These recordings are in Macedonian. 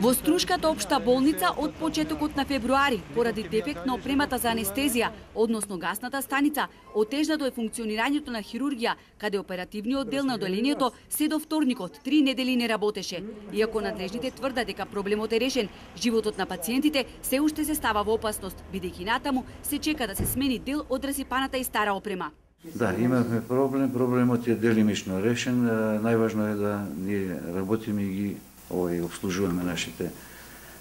Во Струшката општа болница од почетокот на февруари, поради дефект на опремата за анестезија, односно гасната станица, отежнато е функционирањето на хирургија, каде оперативниот дел на оделението се до вторникот 3 недели не работеше. Иако надлежните тврдат дека проблемот е решен, животот на пациентите се уште се става во опасност, бидејќи натаму се чека да се смени дел од расипаната и стара опрема. Да, имавме проблем, проблемот е делимично решен. Најважно е да ние работиме и ги обслужуваме нашите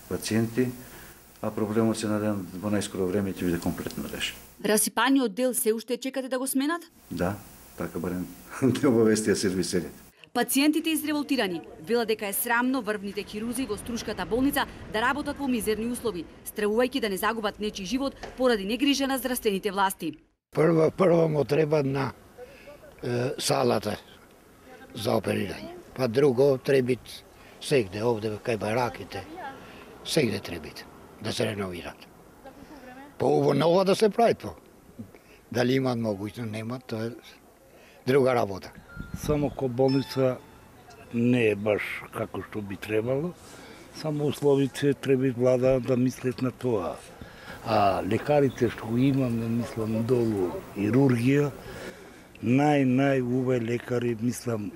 пациенти, а проблемот се надевам во најскоро време ќе биде комплетно решен. Расипаниот дел се уште чекате да го сменат? Да, така барем не обавестија сервисерите. Пациентите изреволтирани велат дека е срамно врвните хирурзи во Струшката болница да работат во мизерни услови, стравувајќи да не загубат нечи живот поради негрижа на здравствените власти. Прво му треба на салата за оперирање, па друго требит сегде овде кај бараките, сегде требит да се реновират. По нова да се прави по. Дали имат могуќност, нема, тоа е друга работа. Само ко болница не е баш како што би требало, само условите треба влада да мислат на тоа. А лекарите што имаме, мислам, долу хирургија, најуве лекари, мислам,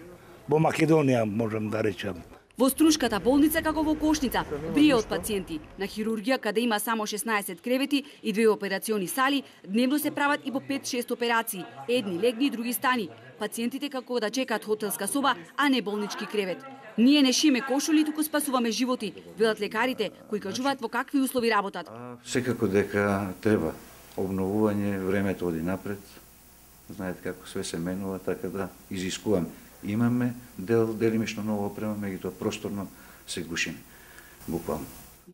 во Македонија можам да речам. Во Струшката болница, како во Кошница, брие од пациенти. На хирургија, каде има само 16 кревети и 2 операциони сали, дневно се прават и по 5-6 операции, едни легни, други стани. Пациентите како да чекаат хотелска соба, а не болнички кревет. Ние не шиме кошули, туку спасуваме животи, велат лекарите, кои кажуваат во какви услови работат. Секако дека треба обновување, времето оди напред. Знаете како све се менува, така да изискуваме. Имаме делимично ново опрема, меѓутоа просторно се гушиме, буквално.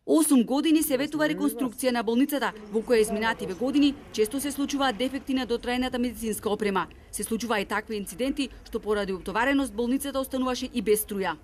8 години се ветува реконструкција на болницата, во која изминативе години често се случуваат дефекти на дотрајната медицинска опрема. Се случува и такви инциденти, што поради утовареност болницата остануваше и без струја.